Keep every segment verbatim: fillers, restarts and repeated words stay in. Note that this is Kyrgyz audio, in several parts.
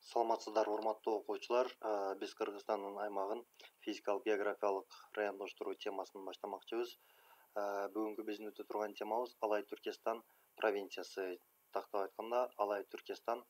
Саламатсыздар, урматтуу окуучулар. Э, Биз Кыргызстандын аймагын физикалык географиялык райондоштуруу темасын баштамакчыбыз. Э, Бүгүнкү биздин өтө турган темабыз Алай Түркестан провинциясы. Тактап айтканда, Алай Түркестан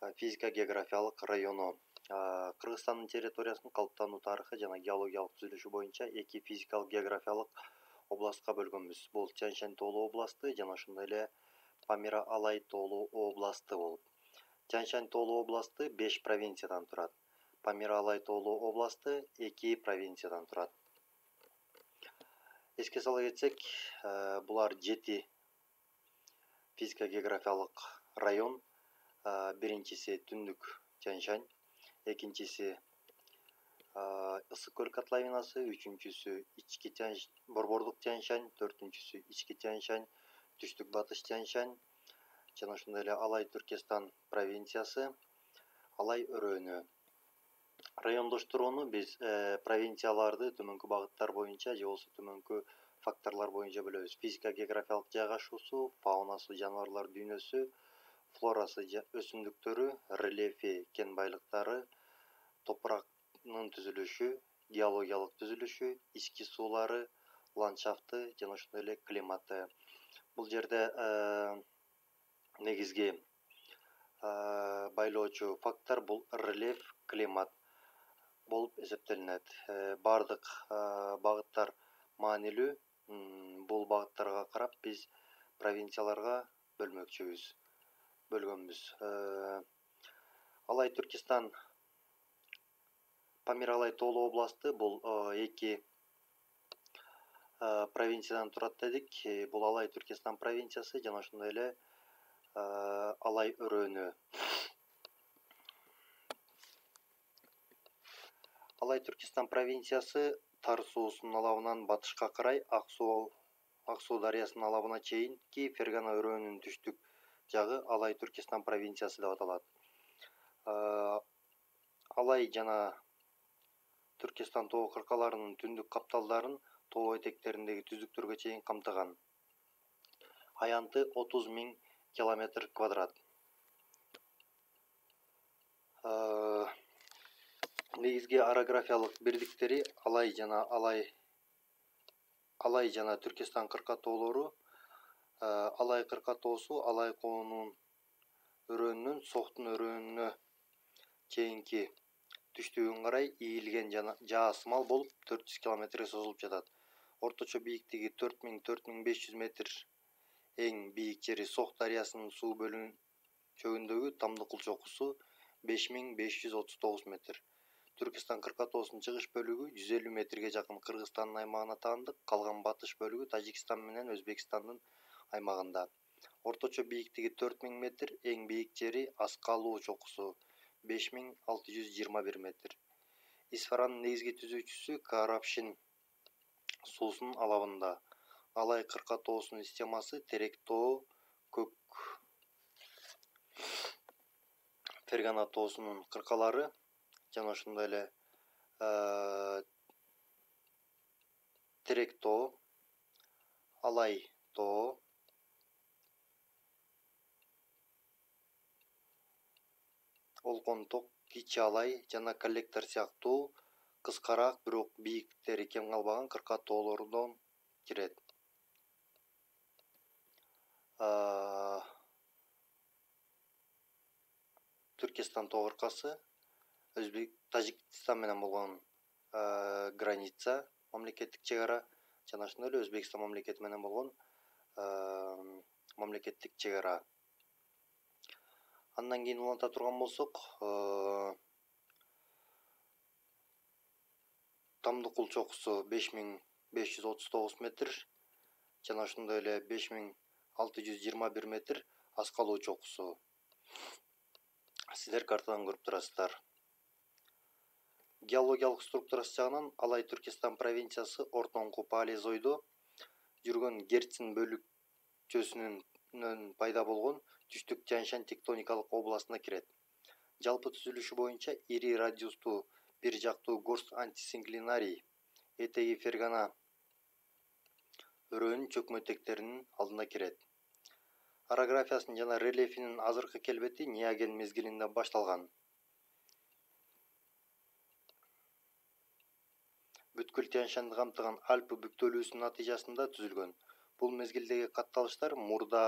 э, физика географиялык району. Э, Кыргызстандын территориясынын калыптануу тарыхы жана геологиялык түзүлүшү боюнча эки физикалык географиялык областка бөлгөнбүз. Бул Тянь-Шань тоолуу областы жана ошондой эле Памира Алай тоолуу областы болуп. Тянь-Шань тоолуу областы беш провинциядан турат. Памира Алай тоолуу областы эки провинциядан турат. Эске сала кетсек, э, булар жети физика географиялык район. Э, Биринчиси Түндүк Тянь-Шань, экинчиси э, Ысык көл котловинасы, үчүнчүсү Ички Тянь, Борбордук Тянь-Шань, төртүнчүсү Ички Тянь-Шань, Түштүк Батыш Тянь-Шань жана ошондой эле Алай Түркестан провинциясы, Алай өрөөнү. Райондоштурууну биз э, провинцияларды төмөнкү багыттар боюнча же болбосо төмөнкү факторлор боюнча бөлөбүз. Физика географиялык жайгашуусу, фаунасы, жаныбарлар дүйнөсү, флорасы, өсүмдүктөрү, рельефи, кен байлыктары, топурактын түзүлүшү, геологиялык түзүлүшү, ички суулары, ландшафты жана ошондой эле климаты. Бул жерде э, негизги э, байлоочу фактор бул рельеф, климат болуп эсептелинет. Э, Бардык э, багыттар маанилүү. М, Бул багыттарга карап биз провинцияларга бөлмөкчүбүз, бөлгөнбүз. Э, Алай Түркестан Памир Алай тоолуу областы бул э, эки э, провинциядан турат дедик. Э, Бул Алай Түркестан провинциясы жана ошондой эле э, Алай өрөөнү. Алай Түркестан провинциясы Тар суусунун алабынан батышка карай Ак суу Ак суу дарыясынын алабына чейинки Фергана өрөөнүнүн түштүк жагы Алай Түркестан провинциясы деп аталат. Э, Алай жана Түркестан тоо кыркаларынын түндүк капталдарын тоо этектериндеги түздүктөргө чейин камтыган. Аянты отуз миң километр квадрат. Э, Негизги орографиялык бирдиктери Алай жана Алай Алай жана Түркестан кырка тоолору. Э, Алай кырка тоосу Алай коонунун өрөөнүнөн Соктун өрөөнүнө чейинки түштүгүн карай ийилген жана жаасымал болуп төрт жүз километрге созулуп жатат. Орточо бийиктиги төрт миң — төрт миң беш жүз метр. Эң бийик жери Сок дарыясынын суу бөлүнчөгүндөгү Тамдыкул чокусу беш миң беш жүз отуз тогуз метр. Түркистан кырка тоосунун чыгыш бөлүгү жүз элүү метрге жакын Кыргызстандын аймагына таандык, калган батыш бөлүгү Тажикстан менен Өзбекстандын аймагында. Орточо бийиктиги төрт миң метр, эң бийик жери Аскалуу чокусу беш миң алты жүз жыйырма бир метр. Исфаранын негизги түзүүчүсү Карапшин суусунун алабында. Алай кырка тоосунун системасы Терек тоо, Көк Фергана тоосунун кыркалары жана ошондой эле э, Терек тоо, Алай тоо, Олконток, Кичи Алай жана Коллектор сыяктуу кыскараак, бирок бийиктиктери кем калбаган кырка тоолордон кирет. Э, Түркестан тоо кыркасы Өзбек Тажикстан менен болгон э, граница, мамлекеттик чек ара жана ошондой эле Өзбекстан мамлекети менен болгон э, мамлекеттик чек ара. Андан кийин уланта турган болсок, э, Тамдыкул чокусу беш миң беш жүз отуз тогуз метр жана ошондой эле беш миң алты жүз жыйырма бир метр Аскалуу чокусу. Сиздер картадан көрүп турасыздар. Геологиялык структурасы жагынан Алай Түркестан провинциясы ортоңку палеозойдо жүргөн Герцин бөлүкчөсүнөн пайда болгон Түштүк Тянь-Шань тектоникалык областына кирет. Жалпы түзүлүшү боюнча ири радиустуу бир жактуу горст антисинклинарий этеги Фергана өрөөнүн чөкмө этектеринин алдына кирет. орографиясынын жана рельефинин азыркы келбети Неоген мезгилинде башталган. Бүткүл Тянь-Шаньды камтыган Альпы бүктөлүүсүнүн натыйжасында түзүлгөн. Бул мезгилдеги катталыштар мурда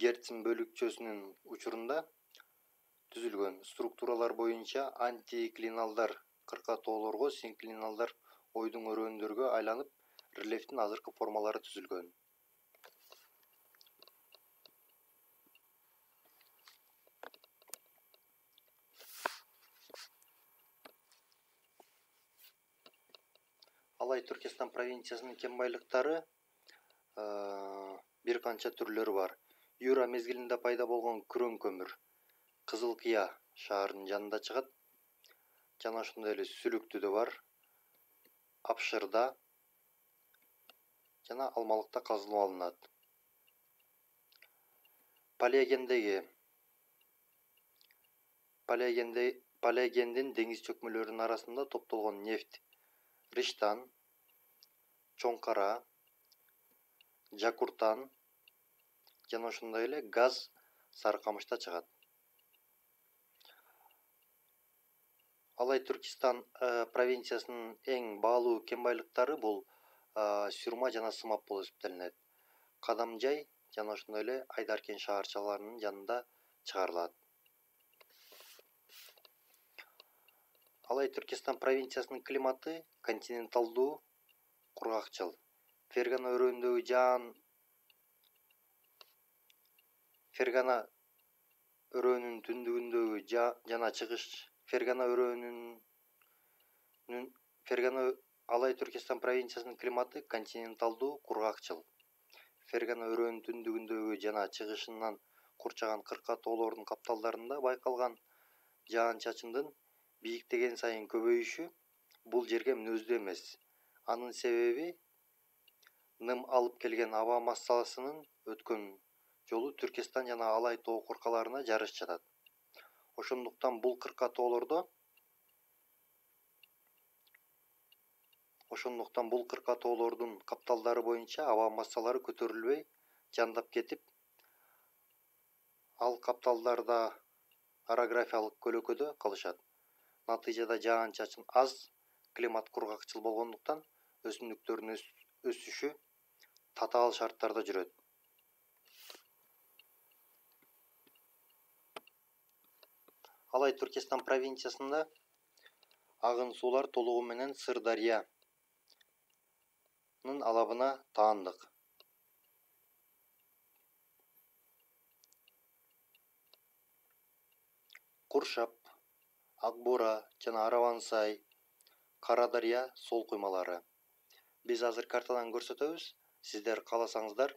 Герцен бөлүкчөсүнүн учурунда түзүлгөн. Структуралар боюнча антиклиналдар кыркатоолорго, синклиналдар ойдуң өрөөндөргө айланып, рельефтин азыркы формалары түзүлгөн. Алай Түркестан провинциясынын кен байлыктары бир канча түрлөрү бар. Юра мезгилинде пайда болгон күрөң көмүр Кызыл Кыя шаарынын жанында чыгат. Жана ошондой эле Сүлүктүдө бар, Апшырда жана Алмалыкта казылып алынат. Палеогендеги Палеогенде Палеогендин деңиз чөкмөлөрүнүн арасында топтолгон нефть Риштан, Чоңкара, Жакуртан жана ошондой эле газ Сарыкамышта чыгат. Алай Түркистан провинциясынын эң баалуу кен байлыктары бул Сюрма жана Сымап болуп эсептелинет. Кадамжай жана ошондой эле Айдар кен шаарчаларынын жанында чыгарылат. Алай Түркестан провинциясынын климаты континенталдуу, кургакчыл. Фергана өрөөндөгү жаан Фергана өрөөнүнүн түндүгүндөгү жана чыгыш Фергана өрөөнүнүн Фергана Алай Түркестан провинциясынын климаты континенталдуу, кургакчыл. Фергана өрөөнүнүн түндүгүндөгү жана чыгышынан курчаган кыркатоолордун капталдарында байкалган жаан-чачындын бийиктеген сайын көбөйүшү бул жерге мүнөздүү эмес. Анын себеби ным алып келген аба массасынын өткөн жолу Түркестан жана Алай тоо куркаларына жарыш жатат. Ошондуктан бул кыркатоолордо Ошондуктан бул кыркатоолордун капталдары боюнча аба массалары көтөрүлбөй, жандап кетип, ал капталдарда орографиялык көлөкөдө калышат. Натыйжада жаан-чачын аз, климат кургакчыл болгондуктан өсүмдүктөрдүн өсүшү татаал шарттарда жүрөт. Алай Түркестан провинциясында агын суулар толугу менен Сырдарыянын алабына таандык. Куршап, Акбура жана Аравансай, Кара Дарыя сол куймалары. Биз азыр картадан көрсөтөбүз. Сиздер кааласаңыздар,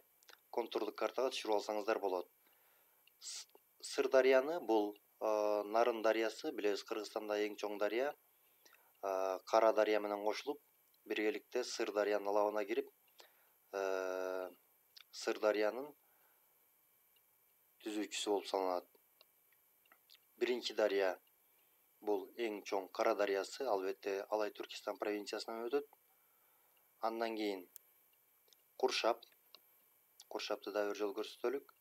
контурдук картага түшүрүп алсаңыздар болот. Сырдарыяны бул Нарын дарыясы, билебиз, Кыргызстанда эң чоң дарыя. Кара Дарыя менен кошулуп, биргеликте Сырдарыянын алабына кирип, Сырдарыянын түзүүчүсү болуп саналат. Биринчи дарыя бул эң чоң Кара дарыясы, албетте Алай Түркистан провинциясынан өтөт. Андан кийин Куршап, Куршапты да бир жолу көрсөтөлүк.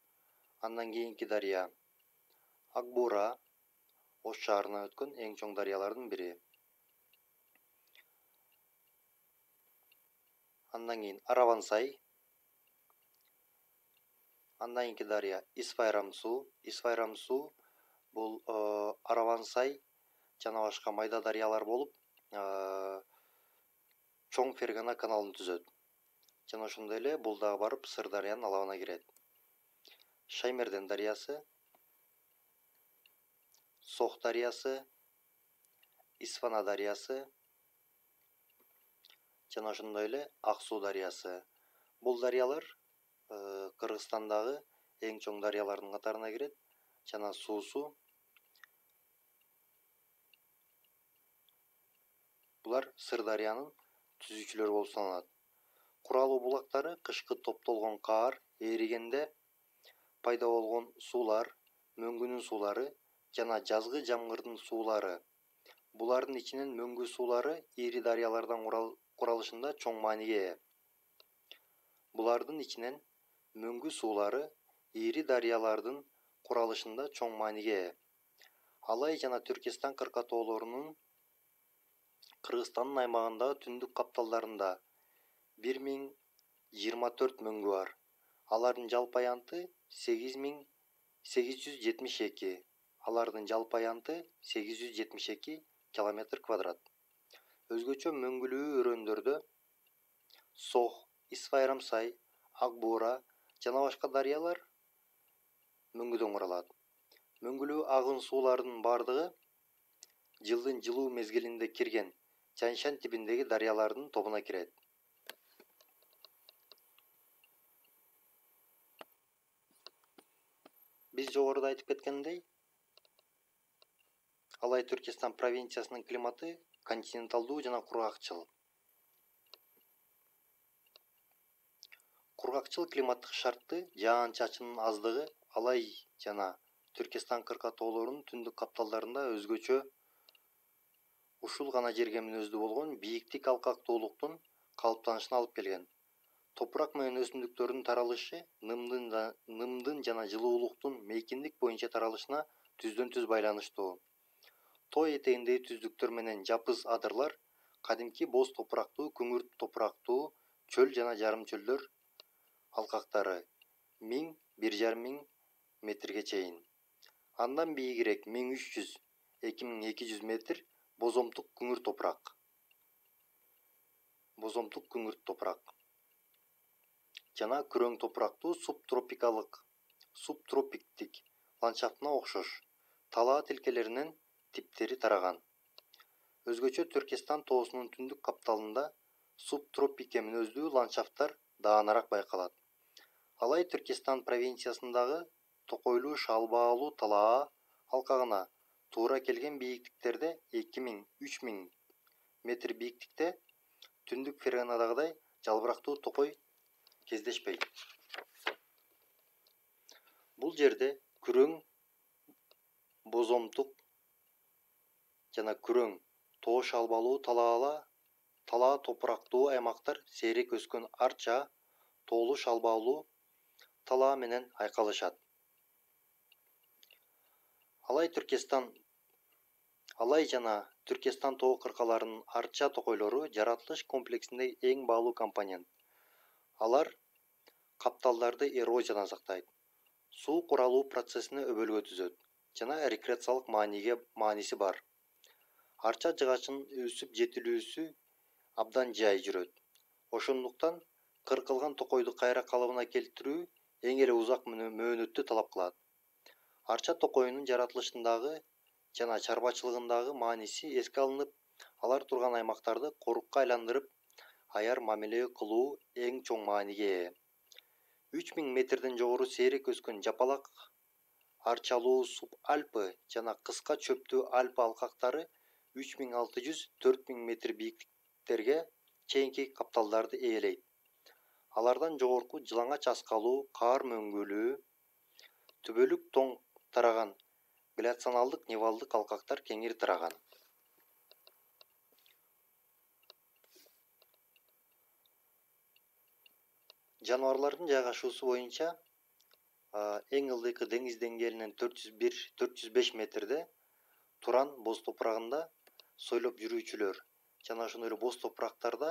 Андан кийинки дарыя Акбура, Ош шаарына өткөн эң чоң дарыялардын бири. Андан кийин Аравансай. Андан кийинки дарыя Исфайрам-суу. Исфайрам-суу бул Аравансай жана башка майда дарыялар болуп, чоң Фергана каналын түзөт. Жана ошондой эле бул дагы барып Сырдарыянын алабына кирет. Шаймерден дарыясы, Сох дарыясы, Исфана дарыясы жана ошондой эле Ак суу дарыясы. Бул дарыялар Кыргызстандагы эң чоң дарыялардын катарына кирет жана суусу булар Сырдарыянын түзүүчүлөрү болуп саналат. Куралуу булактары кышкы топтолгон каар эригенде пайда болгон суулар, мөңгүнүн суулары жана жазгы жамгырдын суулары. Булардын ичинен мөңгү суулары ири дарыялардан куралышында чоң мааниге ээ. Булардын ичинен мөңгү суулары ири дарыялардын куралышында чоң мааниге ээ. Алай жана Түркестан кыркатоолорунун Кыргызстандын аймагындагы түндүк капталдарында бир миң жыйырма төрт мөңгү бар. Алардын жалпы аянты сегиз миң сегиз жүз жетимиш эки. Алардын жалпы аянты сегиз жүз жетимиш эки километр квадрат. Өзгөчө мөңгүлүү өрөөндөрдө Сох, Исфайрамсай, Ак Буура жана башка дарыялар мөңгүдөн куралат. Мөңгүлүү агын суулардын бардыгы жылдын жылуу мезгилинде кирген Тянь-Шань тибиндеги дарыялардын тобуна кирет. Биз жогоруда айтып кеткендей, Алай Түркестан провинциясынын климаты континенталдуу жана кургакчыл. Кургакчыл климаттык шартты жаан-чачындын аздыгы Алай жана Түркестан кыркатоолорунун түндүк капталдарында өзгөчө ушул гана жерге мүнөздүү болгон бийиктик алкактуулуктун калыптанышына алып келген. Топурак менен өсүмдүктөрдүн таралышы нымдын нымдын жана жылуулуктун мейкиндик боюнча таралышына түздөн түз байланыштуу. Тоо этегиндеги түздүктөр менен жапыз адырлар кадимки боз топурактуу, күңүрт топурактуу чөл жана жарым чөлдөр алкактары миң — бир жарым миң метрге чейин. Андан бийигирээк миң үч жүз — эки миң эки жүз метр бозомтук күңүрт топурак. Бозомтук күңүрт топурак жана күрөң топурактуу субтропикалык, субтропиктик ландшафтына окшош талаа тилкелеринен типтери тараган. Өзгөчө Түркестан тоосунун түндүк капталында субтропикке мүнөздүү ландшафттар даанараак байкалат. Алай Түркестан провинциясындагы токойлуу шалбаалуу талаа алкагына туура келген бийиктиктерде эки миң — үч миң метр бийиктикте түндүк Ферганадагыдай жалбырактуу токой кездешпейт. Бул жерде күрөң, бозомтук жана күрөң тоо шалбалуу талаала талаа топурактуу аймактар сейрек өскөн арча, тоолуу шалбаалуу талаа менен айкалышат. Алай Түркестан Алай жана Түркестан тоо кыркаларынын арча токойлору жаратылыш комплексиндеги эң баалуу компонент. Алар капталдарды эрозиядан сактайт, суу куралуу процессине өбөлгө түзөт жана рекреациялык мааниге мааниси бар. Арча жыгачынын өсүп жетилүүсү абдан жай жүрөт. Ошондуктан кыркылган токойду кайра калыбына келтирүү эң эле узак мөөнөттү талап кылат. Арча токоюнун жаратылышындагы жана чарбачылыгындагы мааниси эске алынып, алар турган аймактарды корукка айландырып, аяр мамиле кылуу эң чоң мааниге ээ. үч миң метрден жогору сейрек өскөн жапалак арчалуу субальпы жана кыска чөптүү альпы алкактары үч миң алты жүз — төрт миң метр бийиктиктерге чейинки капталдарды ээлейт. Алардан жогорку жылаңач аскалуу, каар мөңгүлүү, түбөлүк тоң тараган гляциалдык нивалдык алкактар кеңири тараган. Жаныбарлардын жайгашуусу боюнча эң ылдыйкы деңиз деңгээлинен төрт жүз бир — төрт жүз беш метрде Туран боз топурагында сойлоп жүрүүчүлөр жана ошондой эле боз топурактарда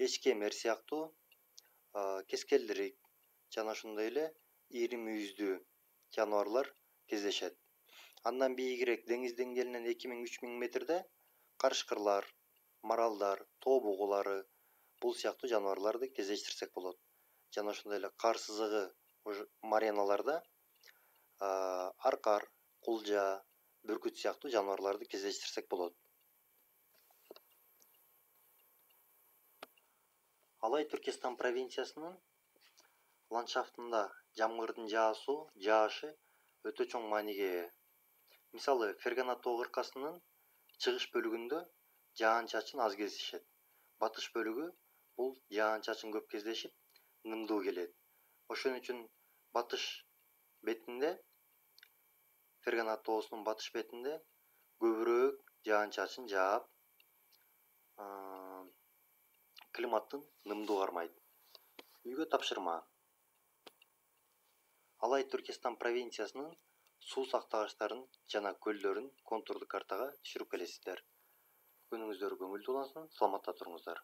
эчкемер сыяктуу кескелдирик жана ошондой эле ири мүйүздүү жаныбарлар кездешет. Андан бийигирээк деңиз деңгээлинен эки миң — үч миң метрде карышкырлар, маралдар, тоо бугулары бул сыяктуу жаныбарларды кездештирсек болот. Жана ошондой эле кар сызыгы мареналарда аркар, кулжа, бүркүт сыяктуу жаныбарларды кездештирсек болот. Алай Түркестан провинциясынын ландшафтында жамгырдын жаасу, жаашы өтө чоң мааниге ээ. Мисалы, Фергана тоо кыркасынын чыгыш бөлүгүндө жаан-чачын аз кездешет. Батыш бөлүгү бул жаан-чачын көп кездешип, нымдуу келет. Ошон үчүн батыш бетинде, Фергана тоосунун батыш бетинде көбүрөөк жаан-чачын жаап, климаттын нымдуу кармайт. Үйгө тапшырма. Алай Түркестан провинциясынын суу сактагычтарын жана көлдөрүн контурдук картага түшүрүп келесиздер. Күнүңүздөр көңүлдүү улансын, саламатта туруңуздар.